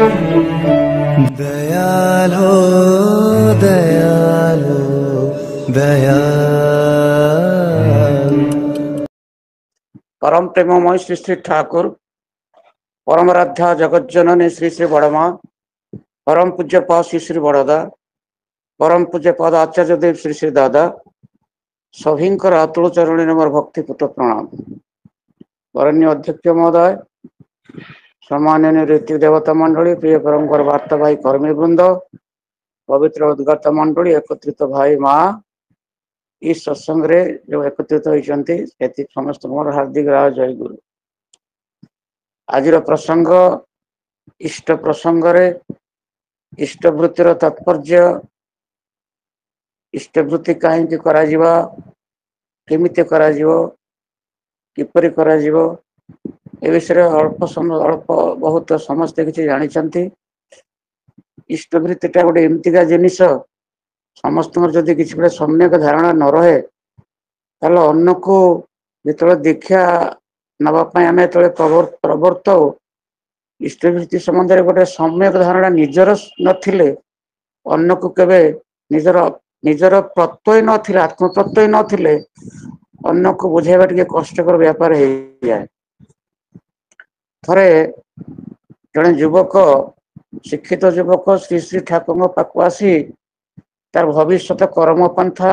ଦୟାଲ ଦୟାଲ ଦୟାଲ। ପରମ ପ୍ରେମମୟ ଶ୍ରୀ ଶ୍ରୀ ଠାକୁର, ପରମରାଧ୍ୟା ଜଗଜ୍ଜନନୀ ଶ୍ରୀ ଶ୍ରୀ ବଡ଼ମା, ପରମ ପୂଜ୍ୟ ପା ଶ୍ରୀ ଶ୍ରୀ ବଡ଼ଦା, ପରମ ପୂଜ୍ୟ ପଦ ଆଚାର୍ଯ୍ୟ ଦେବ ଶ୍ରୀ ଶ୍ରୀ ଦାଦା ସଭିଙ୍କର ଅତୁଳ ଚରଣରେ ମୋର ଭକ୍ତିପୂତ ପ୍ରଣାମ। ବରଣ୍ୟ ଅଧ୍ୟକ୍ଷ ମହୋଦୟ, ସମ୍ମାନନୀୟ ଋତ୍ୱିକ ଦେବତା ମଣ୍ଡଳୀ, ପ୍ରିୟ ପରମଙ୍କର ବାର୍ତ୍ତାବାହୀ କର୍ମୀ ବୃନ୍ଦ, ପବିତ୍ର ଉଦ୍ଗାତା ମଣ୍ଡଳୀ, ଏକତ୍ରିତ ଭାଇ ମା, ଏଇ ସତ୍ସଙ୍ଗରେ ଯୋଉ ଏକତ୍ରିତ ହୋଇଛନ୍ତି ସେଠି ସମସ୍ତଙ୍କୁ ମୋର ହାର୍ଦ୍ଦିକ ରାଜ ଜୟ ଗୁରୁ। ଆଜିର ପ୍ରସଙ୍ଗ ଇଷ୍ଟ ପ୍ରସଙ୍ଗରେ ଇଷ୍ଟବୃତ୍ତିର ତାତ୍ପର୍ଯ୍ୟ, ଇଷ୍ଟବୃତ୍ତି କାହିଁକି କରାଯିବ, କେମିତି କରାଯିବ, କିପରି କରାଯିବ, ଏ ବିଷୟରେ ଅଳ୍ପ ସମୟ ଅଳ୍ପ ବହୁତ ସମସ୍ତେ କିଛି ଜାଣିଛନ୍ତି। ଇଷ୍ଟବୃତ୍ତିଟା ଗୋଟେ ଏମିତିକା ଜିନିଷ, ସମସ୍ତଙ୍କର ଯଦି କିଛି ଗୋଟେ ସମ୍ୟକ ଧାରଣା ନ ରହେ ତାହେଲେ ଅନ୍ୟକୁ ଯେତେବେଳେ ଦୀକ୍ଷା ନବା ପାଇଁ ଆମେ ଯେତେବେଳେ ପ୍ରବର୍ତ୍ତଉ, ଇଷ୍ଟବୃତ୍ତି ସମ୍ବନ୍ଧରେ ଗୋଟେ ସମ୍ୟକ ଧାରଣା ନିଜର ନଥିଲେ ଅନ୍ୟକୁ କେବେ ନିଜର ପ୍ରତ୍ୟୟ ନଥିଲେ, ଆତ୍ମପ୍ରତ୍ୟୟ ନଥିଲେ ଅନ୍ୟକୁ ବୁଝେଇବା ଟିକେ କଷ୍ଟକର ବ୍ୟାପାର ହେଇଯାଏ। ଥରେ ଜଣେ ଯୁବକ, ଶିକ୍ଷିତ ଯୁବକ ଶ୍ରୀ ଶ୍ରୀ ଠାକୁରଙ୍କ ପାଖକୁ ଆସି ତାର ଭବିଷ୍ୟତ କର୍ମପନ୍ଥା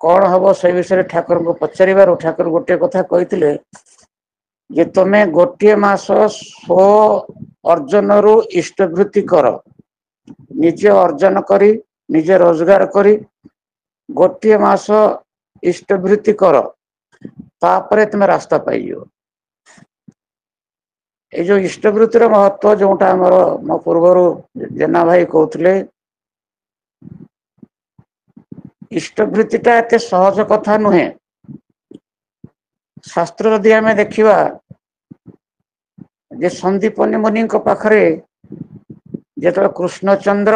କଣ ହବ ସେ ବିଷୟରେ ଠାକୁରଙ୍କୁ ପଚାରିବାରୁ ଠାକୁର ଗୋଟିଏ କଥା କହିଥିଲେ ଯେ ତମେ ଗୋଟିଏ ମାସ ସ୍ୱ ଅର୍ଜନରୁ ଇଷ୍ଟବୃତ୍ତି କର, ନିଜେ ଅର୍ଜନ କରି ନିଜେ ରୋଜଗାର କରି ଗୋଟିଏ ମାସ ଇଷ୍ଟବୃତ୍ତି କର, ତାପରେ ତୁମେ ରାସ୍ତା ପାଇଯିବ। ଏଇ ଯୋଉ ଇଷ୍ଟବୃତ୍ତିର ମହତ୍ଵ ଯୋଉଟା ଆମର ମୋ ପୂର୍ବରୁ ଜେନା ଭାଇ କହୁଥିଲେ, ଇଷ୍ଟବୃତ୍ତିଟା ଏତେ ସହଜ କଥା ନୁହେଁ। ଶାସ୍ତ୍ର ଯଦି ଆମେ ଦେଖିବା ଯେ ସନ୍ଦୀପନୀ ମୁନିଙ୍କ ପାଖରେ ଯେତେବେଳେ କୃଷ୍ଣଚନ୍ଦ୍ର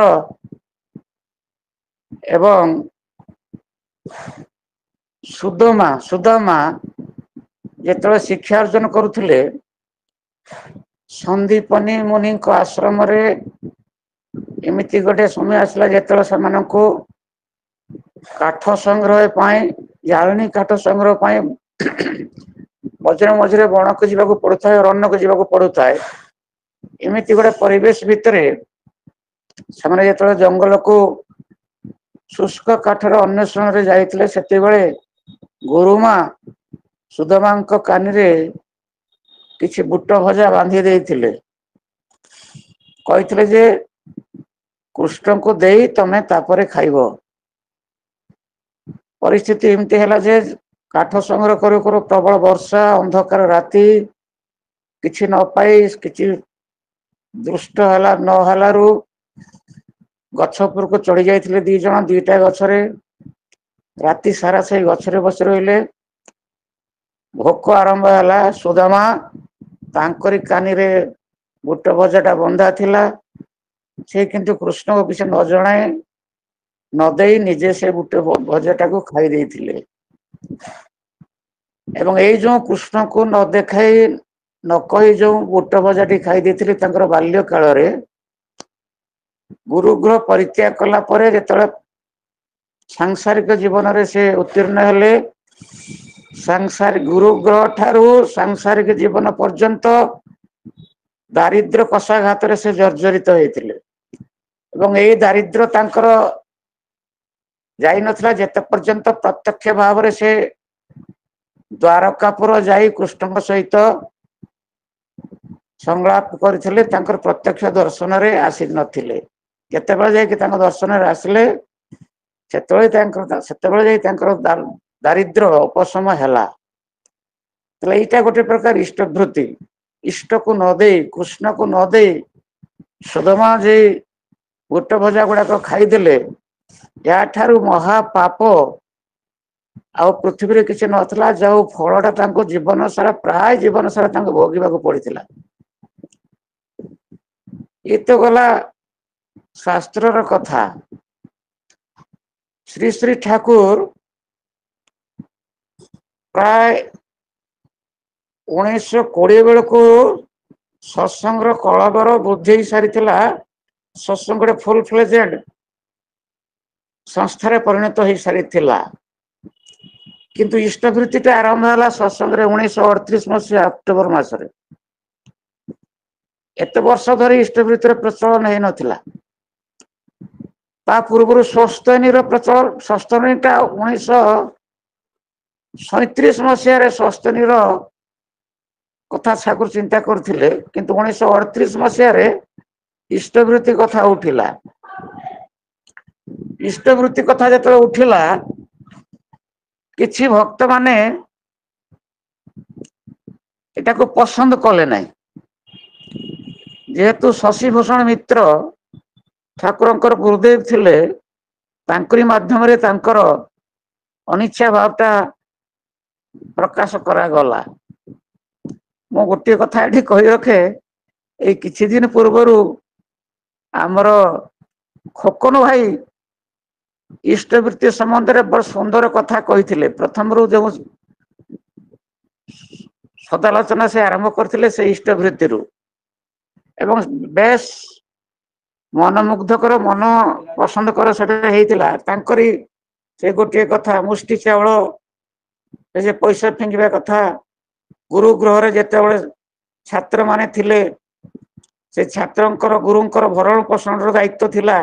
ଏବଂ ସୁଦାମା ଯେତେବେଳେ ଶିକ୍ଷା ଅର୍ଜନ କରୁଥିଲେ, ସନ୍ଦୀପନୀ ମୁନିଙ୍କ ଆଶ୍ରମରେ ଏମିତି ଗୋଟେ ସମୟ ଆସିଲା ଯେତେବେଳେ ସେମାନଙ୍କୁ କାଠ ସଂଗ୍ରହ ପାଇଁ, ଜାଳେଣୀ କାଠ ସଂଗ୍ରହ ପାଇଁ ମଝିରେ ମଝିରେ ବଣକୁ ଯିବାକୁ ପଡୁଥାଏ, ଅରଣ୍ୟକୁ ଯିବାକୁ ପଡୁଥାଏ। ଏମିତି ଗୋଟେ ପରିବେଶ ଭିତରେ ସେମାନେ ଯେତେବେଳେ ଜଙ୍ଗଲକୁ ଶୁଷ୍କ କାଠର ଅନ୍ୱେଷଣରେ ଯାଇଥିଲେ, ସେତେବେଳେ ଗୁରୁମା ସୁଦାମାଙ୍କ କାନିରେ କିଛି ବୁଟ ଭଜା ବାନ୍ଧି ଦେଇଥିଲେ। କହିଥିଲେ ଯେ କୃଷ୍ଣଙ୍କୁ ଦେଇ ତମେ ତାପରେ ଖାଇବ। ପରିସ୍ଥିତି ଏମିତି ହେଲା ଯେ କାଠ ସଂଗ୍ରହ କରୁ କରୁ ପ୍ରବଳ ବର୍ଷା, ଅନ୍ଧକାର ରାତି, କିଛି ନ ପାଇ କିଛି ଦୃଷ୍ଟ ହେଲା ନ ହେଲାରୁ ଗଛ ଉପରକୁ ଚଢି ଯାଇଥିଲେ ଦି ଜଣ, ଦିଟା ଗଛରେ। ରାତି ସାରା ସେଇ ଗଛରେ ବସି ରହିଲେ। ଭୋକ ଆରମ୍ଭ ହେଲା। ସୁଦାମା ତାଙ୍କରି କାନିରେ ବୁଟ ଭଜାଟା ବନ୍ଧା ଥିଲା, ସେ କିନ୍ତୁ କୃଷ୍ଣଙ୍କୁ କିଛି ନ ଜଣାଏ ନ ଦେଇ ନିଜେ ସେ ବୁଟ ଭଜାଟାକୁ ଖାଇ ଦେଇଥିଲେ। ଏବଂ ଏଇ ଯୋଉ କୃଷ୍ଣକୁ ନ ଦେଖାଇ ନ କହି ଯୋଉ ବୁଟ ଭଜାଟି ଖାଇ ଦେଇଥିଲେ, ତାଙ୍କର ବାଲ୍ୟ କାଳରେ ଗୁରୁଗୃହ ପରିତ୍ୟାଗ କଲା ପରେ ଯେତେବେଳେ ସାଂସାରିକ ଜୀବନରେ ସେ ଉତ୍ତୀର୍ଣ୍ଣ ହେଲେ, ସାଂସାରିକ ଗୁରୁଗ୍ରହ ଠାରୁ ସାଂସାରିକ ଜୀବନ ପର୍ଯ୍ୟନ୍ତ ଦାରିଦ୍ର୍ୟ କଷାଘାତରେ ସେ ଜର୍ଜରିତ ହେଇଥିଲେ। ଏବଂ ଏଇ ଦାରିଦ୍ର୍ୟ ତାଙ୍କର ଯାଇନଥିଲା ଯେତେ ପର୍ଯ୍ୟନ୍ତ ପ୍ରତ୍ୟକ୍ଷ ଭାବରେ ସେ ଦ୍ୱାରକାପୁର ଯାଇ କୃଷ୍ଣଙ୍କ ସହିତ ସଂଳାପ କରିଥିଲେ, ତାଙ୍କର ପ୍ରତ୍ୟକ୍ଷ ଦର୍ଶନରେ ଆସି ନଥିଲେ। ଯେତେବେଳେ ଯାଇକି ତାଙ୍କ ଦର୍ଶନରେ ଆସିଲେ, ସେତେବେଳେ ଯାଇ ତାଙ୍କର ଦାରିଦ୍ର୍ୟ ଉପଶମ ହେଲା। ତାହେଲେ ଏଇଟା ଗୋଟେ ପ୍ରକାର ଇଷ୍ଟବୃତ୍ତି। ଇଷ୍ଟକୁ ନ ଦେଇ, କୃଷ୍ଣକୁ ନ ଦେଇ ସୁଦାମା ଯେ ବୁଟ ଭଜା ଗୁଡାକ ଖାଇଦେଲେ, ଏହାଠାରୁ ମହାପାପ ଆଉ ପୃଥିବୀରେ କିଛି ନଥିଲା, ଯୋଉ ଫଳଟା ତାଙ୍କୁ ଜୀବନ ସାରା, ପ୍ରାୟ ଜୀବନ ସାରା ତାଙ୍କୁ ଭୋଗିବାକୁ ପଡିଥିଲା। ଏ ତ ଗଲା ଶାସ୍ତ୍ରର କଥା। ଶ୍ରୀ ଶ୍ରୀ ଠାକୁର ପ୍ରାୟ 1920 ବେଳକୁ ସତ୍ସଙ୍ଗର କଳେବର ବୃଦ୍ଧି ହେଇ ସାରିଥିଲା। ସତ୍ସଙ୍ଗ ଗୋଟେ ଫୁଲ ଫ୍ଲେଜେଡ ସଂସ୍ଥାରେ ପରିଣତ ହେଇ ସାରିଥିଲା। କିନ୍ତୁ ଇଷ୍ଟବୃତ୍ତିଟା ଆରମ୍ଭ ହେଲା ସତ୍ସଙ୍ଗରେ 1938 ମସିହା ଅକ୍ଟୋବର ମାସରେ। ଏତେ ବର୍ଷ ଧରି ଇଷ୍ଟବୃତ୍ତିର ପ୍ରଚଳନ ହେଇନଥିଲା। ତା ପୂର୍ବରୁ ସ୍ୱସ୍ତୟନୀର ପ୍ରଚଳନ, ସ୍ୱସ୍ତୟନୀଟା 1937 ମସିହାରେ ସ୍ୱସ୍ତୟନୀର କଥା ଠାକୁର ଚିନ୍ତା କରୁଥିଲେ, କିନ୍ତୁ 1938 ମସିହାରେ ଇଷ୍ଟବୃତ୍ତି କଥା ଉଠିଲା। ଇଷ୍ଟବୃତ୍ତି କଥା ଯେତେବେଳେ ଉଠିଲା, କିଛି ଭକ୍ତମାନେ ଏଟାକୁ ପସନ୍ଦ କଲେ ନାହିଁ। ଯେହେତୁ ଶଶିଭୂଷଣ ମିତ୍ର ଠାକୁରଙ୍କର ଗୁରୁଦେବ ଥିଲେ, ତାଙ୍କରି ମାଧ୍ୟମରେ ତାଙ୍କର ଅନିଚ୍ଛା ଭାବଟା ପ୍ରକାଶ କରାଗଲା। ମୁଁ ଗୋଟିଏ କଥା ଏଠି କହି ରଖେ, ଏଇ କିଛି ଦିନ ପୂର୍ବରୁ ଆମର ଖୋକନ ଭାଇ ଇଷ୍ଟବୃତ୍ତି ସମ୍ବନ୍ଧରେ ବଡ ସୁନ୍ଦର କଥା କହିଥିଲେ। ପ୍ରଥମରୁ ଯେଉଁ ସଦାଲୋଚନା ସେ ଆରମ୍ଭ କରିଥିଲେ ସେ ଇଷ୍ଟବୃତ୍ତିରୁ, ଏବଂ ବେଶ ମନମୁଗ୍ଧକର, ମନ ପସନ୍ଦ କର ସେଟା ହେଇଥିଲା। ତାଙ୍କରି ସେ ଗୋଟିଏ କଥା, ମୁଷ୍ଟି ଚାଉଳ, ସେ ଯେ ପଇସା ଫିଙ୍ଗିବା କଥା, ଗୁରୁ ଗୃହରେ ଯେତେବେଳେ ଛାତ୍ରମାନେ ଥିଲେ, ସେ ଛାତ୍ରଙ୍କର ଗୁରୁଙ୍କର ଭରଣ ପୋଷଣର ଦାୟିତ୍ୱ ଥିଲା।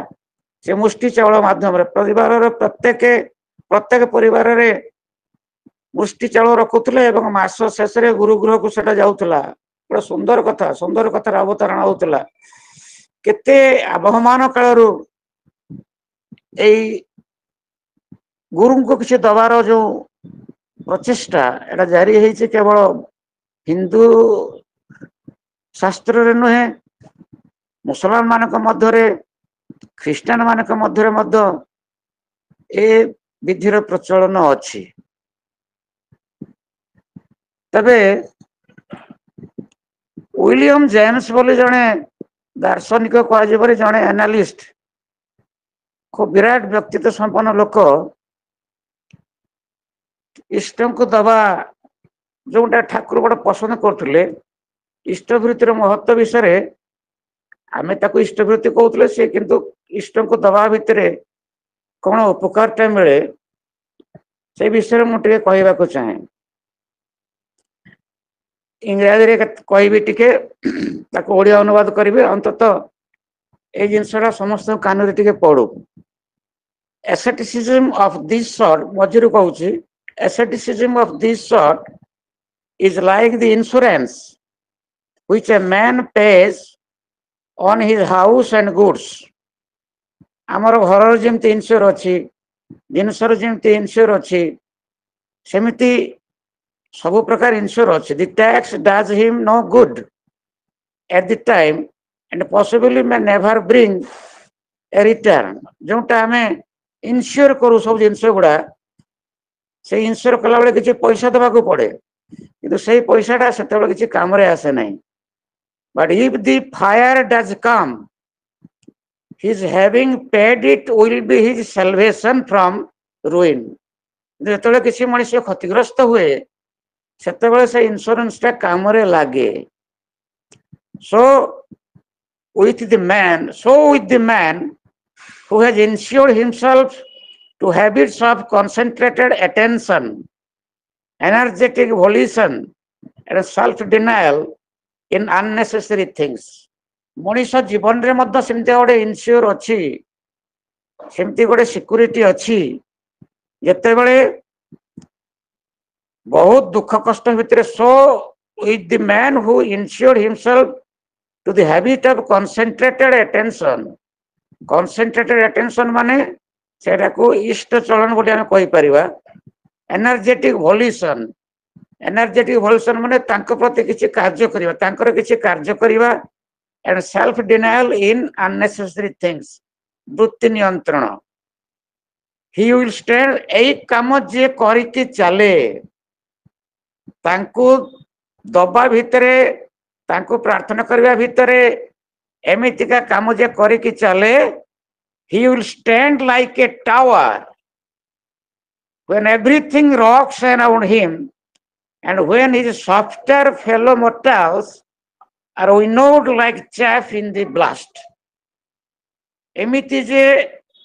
ସେ ମୁଷ୍ଟି ଚାଉଳ ମାଧ୍ୟମରେ ପରିବାରର ପ୍ରତ୍ୟେକ ପରିବାରରେ ମୁଷ୍ଟି ଚାଉଳ ରଖୁଥିଲେ ଏବଂ ମାସ ଶେଷରେ ଗୁରୁ ଗୃହକୁ ସେଟା ଯାଉଥିଲା। ଗୋଟେ ସୁନ୍ଦର କଥା, ସୁନ୍ଦର କଥାର ଅବତାରଣା ହଉଥିଲା। କେତେ ଆବହମାନ କାଳରୁ ଏଇ ଗୁରୁଙ୍କୁ କିଛି ଦବାର ଯୋଉ ପ୍ରଚେଷ୍ଟା, ଏଟା ଜାରି ହେଇଛି, କେବଳ ହିନ୍ଦୁ ଶାସ୍ତ୍ରରେ ନୁହେଁ, ମୁସଲମାନ ମାନଙ୍କ ମଧ୍ୟରେ, ଖ୍ରୀଷ୍ଟିଆନ ମାନଙ୍କ ମଧ୍ୟରେ ମଧ୍ୟ ଏ ବିଧିର ପ୍ରଚଳନ ଅଛି। ତେବେ ୱିଲିୟମ ଜେମ୍ସ ବୋଲି ଜଣେ ଦାର୍ଶନିକ କୁହାଯିବରେ ଜଣେ ଆନାଲିଷ୍ଟ, ଖୁବ ବିରାଟ ବ୍ୟକ୍ତିତ୍ୱ ସମ୍ପନ୍ନ ଲୋକ, ଇଷ୍ଟଙ୍କୁ ଦବା ଯୋଉଟା ଠାକୁର ବଡ ପସନ୍ଦ କରୁଥିଲେ, ଇଷ୍ଟବୃତ୍ତିର ମହତ୍ଵ ବିଷୟରେ, ଆମେ ତାକୁ ଇଷ୍ଟବୃତ୍ତି କହୁଥିଲେ, ସେ କିନ୍ତୁ ଇଷ୍ଟଙ୍କୁ ଦବା ଭିତରେ କଣ ଉପକାରଟା ମିଳେ ସେଇ ବିଷୟରେ ମୁଁ ଟିକେ କହିବାକୁ ଚାହେଁ। ଇଂରାଜୀରେ କହିବି ଟିକେ, ତାକୁ ଓଡିଆ ଅନୁବାଦ କରିବି, ଅନ୍ତତଃ ଏଇ ଜିନିଷଟା ସମସ୍ତଙ୍କ କାନରେ ଟିକେ ପଡୁ। Asceticism of this sort, ମଝିରୁ କହୁଛି, asceticism of this sort is like the insurance which a man pays on his house and goods. ଆମର ଘରର ଯେମିତି ଇନ୍ସୁର ଅଛି, ଜିନିଷର ଯେମିତି ଇନ୍ସୁର ଅଛି, ସେମିତି ସବୁ ପ୍ରକାର ଇନ୍ସୁର ଅଛି। The tax does him no good at the time and possibly may never bring a return. ଯୋଉଟା ଆମେ ଇନ୍ସୁର କରୁ ସବୁ ଜିନିଷ ଗୁଡା, ସେଇ ଇନ୍ସୁର କଲାବେଳେ କିଛି ପଇସା ଦେବାକୁ ପଡେ, କିନ୍ତୁ ସେଇ ପଇସାଟା ସେତେବେଳେ କିଛି କାମରେ ଆସେ ନାହିଁ। But if the fire does come, his having paid it will be his salvation from ruin. ଯେତେବେଳେ କିଛି ମଣିଷ କ୍ଷତିଗ୍ରସ୍ତ ହୁଏ, ସେତେବେଳେ ସେ ଇନ୍ସୁରାନ୍ସଟା କାମରେ ଲାଗେ। So with the man who has insured himself to habits of concentrated attention, energetic volition and self-denial in unnecessary things. ମଣିଷ ଜୀବନରେ ମଧ୍ୟ ସେମିତି ଗୋଟେ ଇନ୍ସୁର ଅଛି, ସେମିତି ଗୋଟେ ସିକ୍ୟୁରିଟି ଅଛି। ଯେତେବେଳେ ବହୁତ ଦୁଃଖ କଷ୍ଟ ଭିତରେ, so with the man who insured himself to the habit of concentrated attention. Concentrated attention ମାନେ ସେଟାକୁ ଇଷ୍ଟ ଚଳନ ବୋଲି ଆମେ କହିପାରିବା। ଏନର୍ଜେଟିକ ଭୋଲିସନ, ଏନର୍ଜେଟିକ ଭୋଲିସନ ମାନେ ତାଙ୍କ ପ୍ରତି କିଛି କାର୍ଯ୍ୟ କରିବା, ତାଙ୍କର କିଛି କାର୍ଯ୍ୟ କରିବା, and self denial in unnecessary things, ବୃତ୍ତି ନିୟନ୍ତ୍ରଣ। He will stand, ଏଇ କାମ ଯିଏ କରିକି ଚାଲେ, ତାଙ୍କୁ ଦବା ଭିତରେ, ତାଙ୍କୁ ପ୍ରାର୍ଥନା କରିବା ଭିତରେ ଏମିତିକା କାମ ଯିଏ କରିକି ଚାଲେ, he will stand like a tower when everything rocks around him And when his softer fellow mortals are winnowed like chaff in the blast. ଏମିତି ଯେ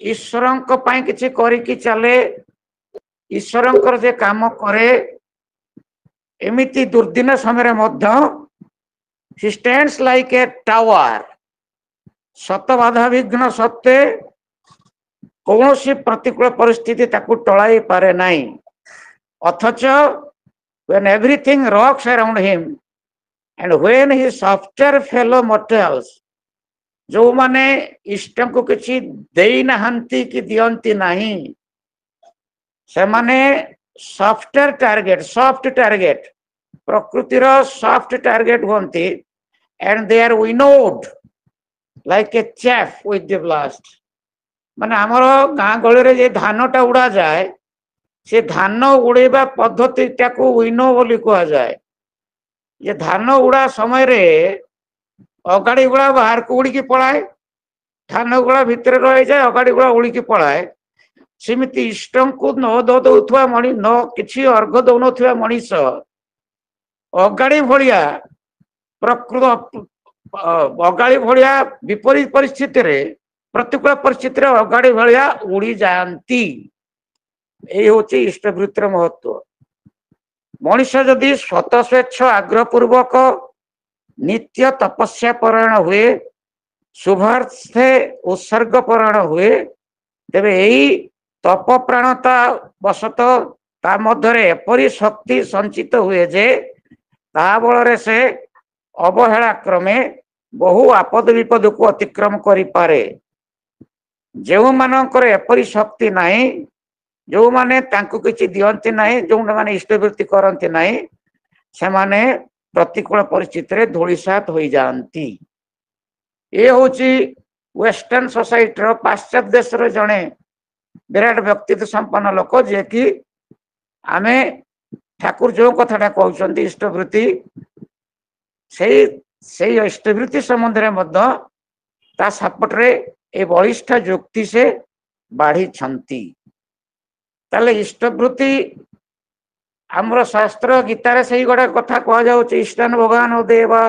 ଈଶ୍ୱରଙ୍କ ପାଇଁ କିଛି କରିକି ଚାଲେ, ଈଶ୍ୱରଙ୍କର ଯେ କାମ କରେ, ଏମିତି ଦୁର୍ଦିନ ସମୟରେ ମଧ୍ୟ he stands like a tower. ଶତ ବାଧାବିଘ୍ନ ସତ୍ତ୍ୱେ କୌଣସି ପ୍ରତିକୂଳ ପରିସ୍ଥିତି ତାକୁ ଟଳାଇ ପାରେ ନାହିଁ। ଅଥଚ when everything rocks around him and when his softer fellow mortals, ଯୋଉମାନେ ଇଷ୍ଟଙ୍କୁ କିଛି ଦେଇନାହାନ୍ତି କି ଦିଅନ୍ତି ନାହିଁ, ସେମାନେ ସଫ୍ଟୱେର ଟାର୍ଗେଟ, ସଫ୍ଟ ଟାର୍ଗେଟ, ପ୍ରକୃତିର ସଫ୍ଟ ଟାର୍ଗେଟ ହୁଅନ୍ତି, and they are winnowed like a chaff with the blast. ମାନେ ଆମର ଗାଁ ଗହଳିରେ ଯେ ଧାନଟା ଉଡାଯାଏ, ସେ ଧାନ ଉଡେଇବା ପଦ୍ଧତିଟାକୁ ୱିନୋ ବୋଲି କୁହାଯାଏ। ଯେ ଧାନ ଉଡା ସମୟରେ ଅଗାଡି ଗୁଡା ବାହାରକୁ ଉଡିକି ପଳାଏ, ଧାନ ଗୁଡା ଭିତରେ ରହିଯାଏ, ଅଗାଡି ଗୁଡା ଉଡିକି ପଳାଏ। ସେମିତି ଇଷ୍ଟଙ୍କୁ ନ ଦଉଥିବା ମଣି ନ କିଛି ଅର୍ଘ ଦଉନଥିବା ମଣିଷ ଅଗାଡି ଭଳିଆ, ପ୍ରକୃତ ଅଗାଡି ଭଳିଆ ବିପରୀତ ପରିସ୍ଥିତିରେ, ପ୍ରତିକୂଳ ପରିସ୍ଥିତିରେ ଅଗାଡି ଭଳିଆ ଉଡି ଯାଆନ୍ତି। ଏଇ ହଉଛି ଇଷ୍ଟବୃତ୍ତିର ମହତ୍ଵ। ମଣିଷ ଯଦି ସ୍ୱତଃ ସ୍ୱେଚ୍ଛ ଆଗ୍ରହ ପୂର୍ବକ ନିତ୍ୟ ତପସ୍ୟା ପରାୟଣ ହୁଏ, ଶୁଭାର୍ଥେ ଉତ୍ସର୍ଗ ପରାୟଣ ହୁଏ, ତେବେ ଏଇ ତପ ପ୍ରାଣତା ବଶତଃ ତା ମଧ୍ୟରେ ଏପରି ଶକ୍ତି ସଞ୍ଚିତ ହୁଏ ଯେ ତା ବଳରେ ସେ ଅବହେଳା କ୍ରମେ ବହୁ ଆପଦ ବିପଦକୁ ଅତିକ୍ରମ କରିପାରେ। ଯେଉଁମାନଙ୍କର ଏପରି ଶକ୍ତି ନାହିଁ, ଯୋଉମାନେ ତାଙ୍କୁ କିଛି ଦିଅନ୍ତି ନାହିଁ, ଯେଉଁମାନେ ଇଷ୍ଟବୃତ୍ତି କରନ୍ତି ନାହିଁ, ସେମାନେ ପ୍ରତିକୂଳ ପରିସ୍ଥିତିରେ ଧୂଳିସାତ ହୋଇଯାଆନ୍ତି। ଏ ହଉଛି ୱେଷ୍ଟର୍ଣ୍ଣ ସୋସାଇଟିର, ପାଶ୍ଚାତ୍ୟ ଦେଶର ଜଣେ ବିରାଟ ବ୍ୟକ୍ତିତ୍ୱ ସମ୍ପନ୍ନ ଲୋକ, ଯିଏକି ଆମେ ଠାକୁର ଯୋଉ କଥାଟା କହୁଛନ୍ତି ଇଷ୍ଟବୃତ୍ତି, ସେଇ ଇଷ୍ଟବୃତ୍ତି ସମ୍ବନ୍ଧରେ ମଧ୍ୟ ତା ସପୋର୍ଟରେ ଏ ବଳିଷ୍ଠ ଯୁକ୍ତି ସେ ବାଢିଛନ୍ତି। ତାହେଲେ ଇଷ୍ଟବୃତ୍ତି ଆମର ଶାସ୍ତ୍ର ଗୀତାରେ ସେଇ ଗୁଡା କଥା କୁହାଯାଉଛି। ଇଷ୍ଟାନ ଭଗବାନ ଦେବା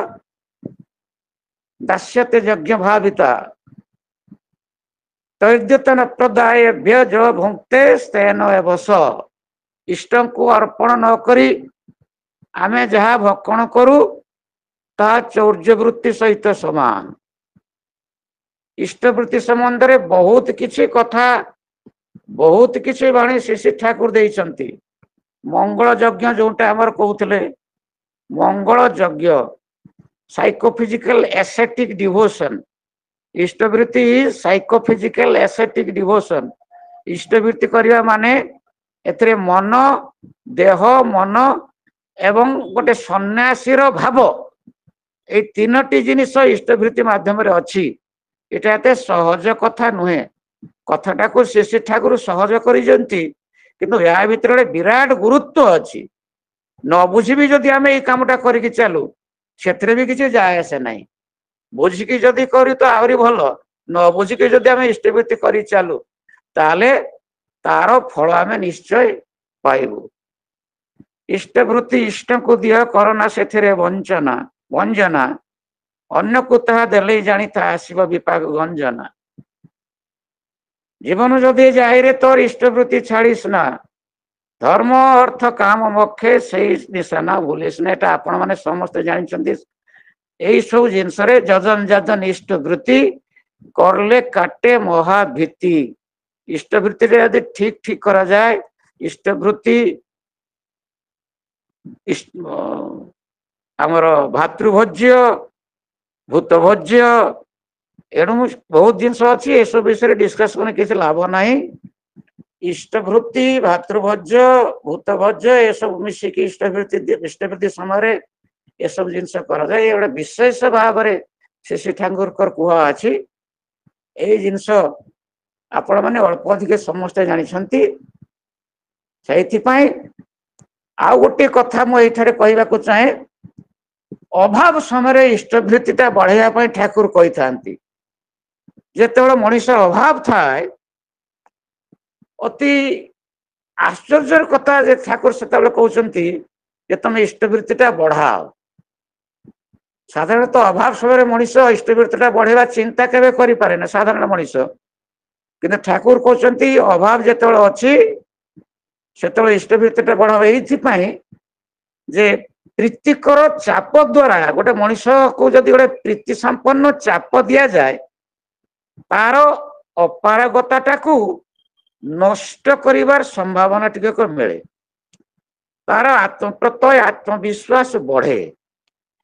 ଦାସ୍ୟତେ ଯଜ୍ଞ ଭାବିତା ତୈଦ୍ୟତନ ପ୍ରଦାୟଭ୍ୟ ଯ ଭୁକ୍ତେ ସ୍ତେନ ଏବସ। ଇଷ୍ଟଙ୍କୁ ଅର୍ପଣ ନ କରି ଆମେ ଯାହା ଭକ୍ଷଣ କରୁ, ତାହା ଚୌର୍ଯ୍ୟ ବୃତ୍ତି ସହିତ ସମାନ। ଇଷ୍ଟବୃତ୍ତି ସମ୍ବନ୍ଧରେ ବହୁତ କିଛି କଥା, ବହୁତ କିଛି ବାଣୀ ଶ୍ରୀ ଶ୍ରୀ ଠାକୁର ଦେଇଛନ୍ତି। ମଙ୍ଗଳ ଯଜ୍ଞ ଯୋଉଟା ଆମର କହୁଥିଲେ, ମଙ୍ଗଳ ଯଜ୍ଞ, ସାଇକୋଫିଜିକାଲ ଏସେଟିକ ଡିଭୋସନ। ଇଷ୍ଟବୃତ୍ତି ସାଇକୋଫିଜିକାଲ ଏସେଟିକ ଡିଭୋସନ। ଇଷ୍ଟବୃତ୍ତି କରିବା ମାନେ ଏଥିରେ ମନ, ଦେହ, ମନ ଏବଂ ଗୋଟେ ସନ୍ନ୍ୟାସୀର ଭାବ, ଏଇ ତିନୋଟି ଜିନିଷ ଇଷ୍ଟବୃତ୍ତି ମାଧ୍ୟମରେ ଅଛି। ଏଇଟା ଏତେ ସହଜ କଥା ନୁହେଁ। କଥାଟାକୁ ଶ୍ରୀ ଶ୍ରୀ ଠାକୁର ସହଜ କରିଛନ୍ତି, କିନ୍ତୁ ଏହା ଭିତରେ ଗୋଟେ ବିରାଟ ଗୁରୁତ୍ୱ ଅଛି। ନ ବୁଝିବି ଯଦି ଆମେ ଏଇ କାମଟା କରିକି ଚାଲୁ, ସେଥିରେ ବି କିଛି ଯାଏ ଆସେ ନାହିଁ। ବୁଝିକି ଯଦି କରୁ ତ ଆହୁରି ଭଲ। ନ ବୁଝିକି ଯଦି ଆମେ ଇଷ୍ଟବୃତ୍ତି କରି ଚାଲୁ, ତାହେଲେ ତାର ଫଳ ଆମେ ନିଶ୍ଚୟ ପାଇବୁ। ଇଷ୍ଟବୃତ୍ତି ଇଷ୍ଟଙ୍କୁ ଦିଅ, କରନା ସେଥିରେ ବଞ୍ଚନା ବଞ୍ଜନା, ଅନ୍ୟକୁ ତାହା ଦେଲେ ଜାଣିଥା ଆସିବ ବିପାକ ଗଞ୍ଜନା। ଜୀବନ ଯଦି ଯାଇରେ ତୋର ଇଷ୍ଟବୃତ୍ତି ଛାଡ଼ିস ନା, ଧର୍ମ ଅର୍ଥ କାମ ମୋକ୍ଷେ ସେଇ ନିଶାନା ଭୁଲିস ନା। ଏଟା ଆପଣ ମାନେ ସମସ୍ତେ ଜାଣିଛନ୍ତି। ଏଇ ସବୁ ଜିନିଷରେ ଯଜନ ଯାଜନ ଇଷ୍ଟବୃତ୍ତି କରଲେ କାଟେ ମହାଭୀତି। ଇଷ୍ଟବୃତ୍ତିରେ ଯଦି ଠିକ ଠିକ କରାଯାଏ, ଇଷ୍ଟବୃତ୍ତି, ଆମର ଭାତୃଭୋଜ୍ୟ, ଭୂତଭୋଜ୍ୟ, ଏଣୁ ବହୁତ ଜିନିଷ ଅଛି। ଏସବୁ ବିଷୟରେ ଡିସ୍କସ କରି କିଛି ଲାଭ ନାହିଁ। ଇଷ୍ଟବୃତ୍ତି, ଭାତୃଭୋଜ୍ୟ, ଭୂତଭୋଜ୍ୟ, ଏସବୁ ମିଶିକି ଇଷ୍ଟବୃତ୍ତି, ଇଷ୍ଟବୃତ୍ତି ସମୟରେ ଏସବୁ ଜିନିଷ କରାଯାଏ। ଗୋଟେ ବିଶେଷ ଭାବରେ ଶ୍ରୀ ଶ୍ରୀ ଠାକୁରଙ୍କର କୁହା ଅଛି। ଏଇ ଜିନିଷ ଆପଣମାନେ ଅଳ୍ପ ଅଧିକ ସମସ୍ତେ ଜାଣିଛନ୍ତି। ସେଇଥିପାଇଁ ଆଉ ଗୋଟିଏ କଥା ମୁଁ ଏଇଠାରେ କହିବାକୁ ଚାହେଁ। ଅଭାବ ସମୟରେ ଇଷ୍ଟବୃତ୍ତିଟା ବଢେଇବା ପାଇଁ ଠାକୁର କହିଥାନ୍ତି। ଯେତେବେଳେ ମଣିଷ ଅଭାବ ଥାଏ, ଅତି ଆଶ୍ଚର୍ଯ୍ୟର କଥା ଯେ ଠାକୁର ସେତେବେଳେ କହୁଛନ୍ତି ଯେ ତମେ ଇଷ୍ଟବୃତ୍ତିଟା ବଢାଅ। ସାଧାରଣତଃ ଅଭାବ ସମୟରେ ମଣିଷ ଇଷ୍ଟବୃତ୍ତିଟା ବଢେଇବା ଚିନ୍ତା କେବେ କରିପାରେ ନା ସାଧାରଣ ମଣିଷ। କିନ୍ତୁ ଠାକୁର କହୁଛନ୍ତି ଅଭାବ ଯେତେବେଳେ ଅଛି ସେତେବେଳେ ଇଷ୍ଟବୃତ୍ତିଟା ବଢାଅ। ଏଇଥିପାଇଁ ଯେ ପ୍ରୀତିକର ଚାପ ଦ୍ଵାରା ଗୋଟେ ମଣିଷକୁ ଯଦି ଗୋଟେ ପ୍ରୀତି ସମ୍ପନ୍ନ ଚାପ ଦିଆଯାଏ, ତାର ଅପାରଗତାଟାକୁ ନଷ୍ଟ କରିବାର ସମ୍ଭାବନା ଟିକେ ମିଳେ, ତାର ଆତ୍ମପ୍ରତ୍ୟୟ ଆତ୍ମବିଶ୍ୱାସ ବଢେ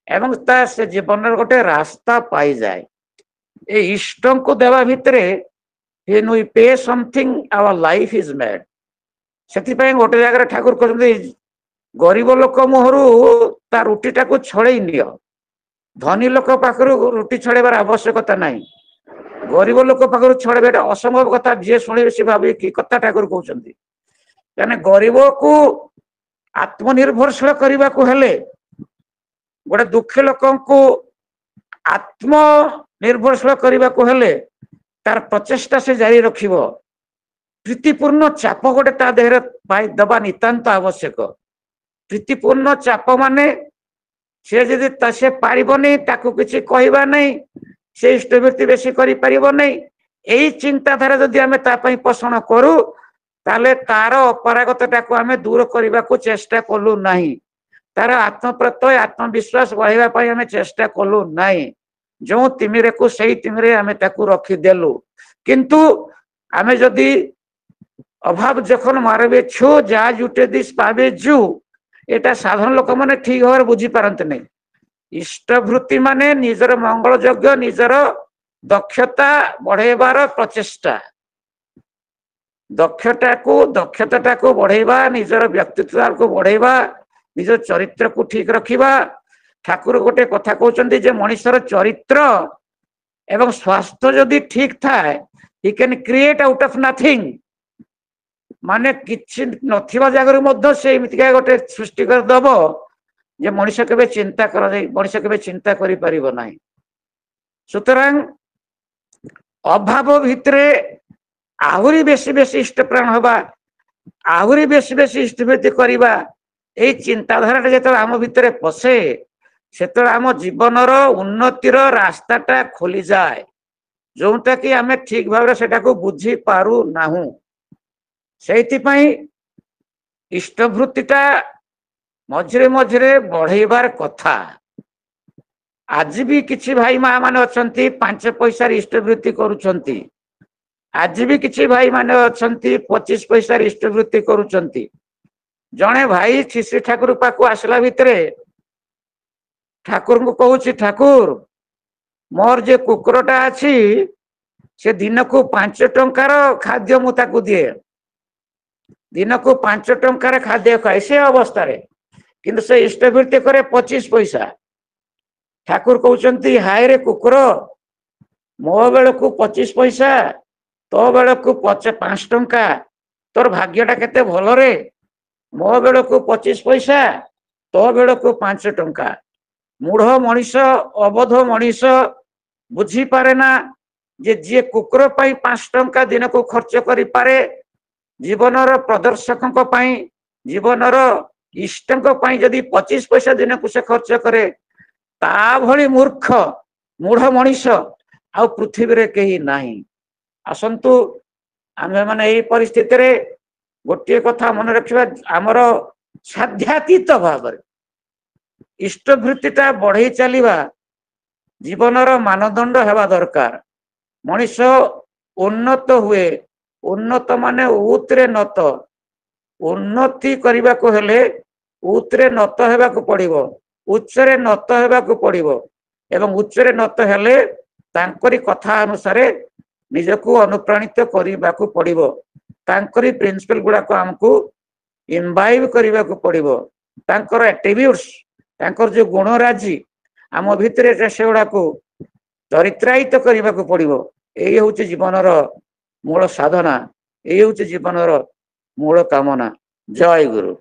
ଏବଂ ତା ସେ ଜୀବନର ଗୋଟେ ରାସ୍ତା ପାଇଯାଏ। ଏ ଇଷ୍ଟଙ୍କୁ ଦେବା ଭିତରେ when we pay something our life is made। ସେଥିପାଇଁ ଗୋଟେ ଜାଗାରେ ଠାକୁର କହୁଛନ୍ତି ଗରିବ ଲୋକ ମୁହଁରୁ ତା ରୁଟିଟାକୁ ଛଡେଇ ନିଅ, ଧନୀ ଲୋକ ପାଖରୁ ରୁଟି ଛଡେଇବାର ଆବଶ୍ୟକତା ନାହିଁ। ଗରିବ ଲୋକ ପାଖରୁ ଛଡେଇବା ଏଟା ଅସମ୍ଭବ କଥା, ଯିଏ ଶୁଣିବେ ସେ ଭାବିବେ କି କଥା ଠାକୁର କହୁଛନ୍ତି। କାହିଁକି ଗରିବକୁ ଆତ୍ମନିର୍ଭରଶୀଳ କରିବାକୁ ହେଲେ, ଗୋଟେ ଦୁଃଖୀ ଲୋକଙ୍କୁ ଆତ୍ମନିର୍ଭରଶୀଳ କରିବାକୁ ହେଲେ ତାର ପ୍ରଚେଷ୍ଟା ସେ ଜାରି ରଖିବ। ପ୍ରୀତିପୂର୍ଣ୍ଣ ଚାପ ଗୋଟେ ତା ଦେହରେ ଦେବା ନିତାନ୍ତ ଆବଶ୍ୟକ। ପ୍ରୀତିପୂର୍ଣ୍ଣ ଚାପ ମାନେ ସେ ଯଦି ସେ ପାରିବନି, ତାକୁ କିଛି କହିବା ନାହିଁ, ସେ ଇଷ୍ଟବୃତ୍ତି ବେଶୀ କରିପାରିବ ନାହିଁ, ଏଇ ଚିନ୍ତାଧାରା ଯଦି ଆମେ ତା ପାଇଁ ପୋଷଣ କରୁ, ତାହେଲେ ତାର ଅପାରଗତାଟାକୁ ଆମେ ଦୂର କରିବାକୁ ଚେଷ୍ଟା କଲୁ ନାହିଁ, ତାର ଆତ୍ମପ୍ରତ୍ୟୟ ଆତ୍ମବିଶ୍ୱାସ ବଢେଇବା ପାଇଁ ଆମେ ଚେଷ୍ଟା କଲୁ ନାହିଁ। ଯେଉଁ ତିମିରେକୁ ସେଇ ତିମିରେ ଆମେ ତାକୁ ରଖିଦେଲୁ। କିନ୍ତୁ ଆମେ ଯଦି ଅଭାବ ଯখন ମାରବେ ଛୁ ଯା ଜୁଟେ this ପାବେ ଜୁ, ଏଇଟା ସାଧାରଣ ଲୋକମାନେ ଠିକ ଭାବରେ ବୁଝିପାରନ୍ତି ନାହିଁ। ଇଷ୍ଟବୃତ୍ତି ମାନେ ନିଜର ମଙ୍ଗଳ ଯୋଗ୍ୟ ନିଜର ଦକ୍ଷତା ବଢେଇବାର ପ୍ରଚେଷ୍ଟା, ଦକ୍ଷତାଟାକୁ ବଢେଇବା, ନିଜର ବ୍ୟକ୍ତିତ୍ୱକୁ ବଢେଇବା, ନିଜ ଚରିତ୍ରକୁ ଠିକ ରଖିବା। ଠାକୁର ଗୋଟେ କଥା କହୁଛନ୍ତି ଯେ ମଣିଷର ଚରିତ୍ର ଏବଂ ସ୍ୱାସ୍ଥ୍ୟ ଯଦି ଠିକ ଥାଏ, he can create out of nothing। ମାନେ କିଛି ନଥିବା ଜାଗାରୁ ମଧ୍ୟ ସେ ଏମିତିକା ଗୋଟେ ସୃଷ୍ଟି କରିଦବ ଯେ ମଣିଷ କେବେ ଚିନ୍ତା କରାଯାଇ ମଣିଷ କେବେ ଚିନ୍ତା କରିପାରିବ ନାହିଁ। ସୁତରାଂ ଅଭାବ ଭିତରେ ଆହୁରି ବେଶୀ ବେଶୀ ଇଷ୍ଟପ୍ରାଣ ହବା, ଆହୁରି ବେଶୀ ବେଶୀ ଇଷ୍ଟବୃତ୍ତି କରିବା, ଏଇ ଚିନ୍ତାଧାରାଟା ଯେତେବେଳେ ଆମ ଭିତରେ ପଶେ, ସେତେବେଳେ ଆମ ଜୀବନର ଉନ୍ନତିର ରାସ୍ତାଟା ଖୋଲିଯାଏ, ଯୋଉଟା କି ଆମେ ଠିକ ଭାବରେ ସେଟାକୁ ବୁଝି ପାରୁନାହୁଁ। ସେଇଥିପାଇଁ ଇଷ୍ଟବୃତ୍ତିଟା ମଝିରେ ମଝିରେ ବଢେଇବାର କଥା। ଆଜି ବି କିଛି ଭାଇ ମା ମାନେ ଅଛନ୍ତି 5 ପଇସାରେ ଇଷ୍ଟବୃତ୍ତି କରୁଛନ୍ତି, ଆଜି ବି କିଛି ଭାଇ ମାନେ ଅଛନ୍ତି 25 ପଇସାରେ ଇଷ୍ଟବୃତ୍ତି କରୁଛନ୍ତି। ଜଣେ ଭାଇ ଶ୍ରୀ ଶ୍ରୀ ଠାକୁର ପାଖକୁ ଆସିଲା ଭିତରେ ଠାକୁରଙ୍କୁ କହୁଛି, ଠାକୁର ମୋର ଯେ କୁକୁରଟା ଅଛି ସେ ଦିନକୁ 5 ଟଙ୍କାର ଖାଦ୍ୟ ମୁଁ ତାକୁ ଦିଏ, ଦିନକୁ 5 ଟଙ୍କାର ଖାଦ୍ୟ ଖାଏ ସେ ଅବସ୍ଥାରେ, କିନ୍ତୁ ସେ ଇଷ୍ଟବୃତ୍ତି କରେ 25 ପଇସା। ଠାକୁର କହୁଛନ୍ତି ହାୟ ରେ କୁକୁର, ମୋ ବେଳକୁ 25 ପଇସା, ତୋ ବେଳକୁ 5 ଟଙ୍କା, ତୋର ଭାଗ୍ୟଟା କେତେ ଭଲରେ, ମୋ ବେଳକୁ 25 ପଇସା, ତୋ ବେଳକୁ 5 ଟଙ୍କା। ମୂଢ ମଣିଷ, ଅବୋଧ ମଣିଷ ବୁଝିପାରେ ନା ଯେ ଯିଏ କୁକୁର ପାଇଁ 5 ଟଙ୍କା ଦିନକୁ ଖର୍ଚ୍ଚ କରିପାରେ, ଜୀବନର ପ୍ରଦର୍ଶକଙ୍କ ପାଇଁ, ଜୀବନର ଇଷ୍ଟଙ୍କ ପାଇଁ ଯଦି 25 ପଇସା ଦିନକୁ ସେ ଖର୍ଚ୍ଚ କରେ, ତା ଭଳି ମୂର୍ଖ ମୂଢ ମଣିଷ ଆଉ ପୃଥିବୀରେ କେହି ନାହିଁ। ଆସନ୍ତୁ ଆମେମାନେ ଏଇ ପରିସ୍ଥିତିରେ ଗୋଟିଏ କଥା ମନେ ରଖିବା, ଆମର ସାଧ୍ୟାତୀତ ଭାବରେ ଇଷ୍ଟବୃତ୍ତିଟା ବଢେଇ ଚାଲିବା ଜୀବନର ମାନଦଣ୍ଡ ହେବା ଦରକାର। ମଣିଷ ଉନ୍ନତ ହୁଏ, ଉନ୍ନତ ମାନେ ଉତରେ ନତ, ଉନ୍ନତି କରିବାକୁ ହେଲେ ଉତରେ ନତ ହେବାକୁ ପଡିବ, ଉଚ୍ଚରେ ନତ ହେବାକୁ ପଡିବ, ଏବଂ ଉଚ୍ଚରେ ନତ ହେଲେ ତାଙ୍କରି କଥା ଅନୁସାରେ ନିଜକୁ ଅନୁପ୍ରାଣିତ କରିବାକୁ ପଡିବ, ତାଙ୍କରି ପ୍ରିନ୍ସିପଲ ଗୁଡାକ ଆମକୁ ଇମ୍ବାଇବ କରିବାକୁ ପଡିବ, ତାଙ୍କର ଆଟ୍ରିବ୍ୟୁଟ୍ସ, ତାଙ୍କର ଯୋଉ ଗୁଣରାଜି ଆମ ଭିତରେ ସେଗୁଡାକୁ ଚରିତ୍ରାୟିତ କରିବାକୁ ପଡିବ। ଏଇ ହଉଛି ଜୀବନର ମୂଳ ସାଧନା, ଏଇ ହଉଛି ଜୀବନର ମୂଳ କାମନା। ଜୟ ଗୁରୁ।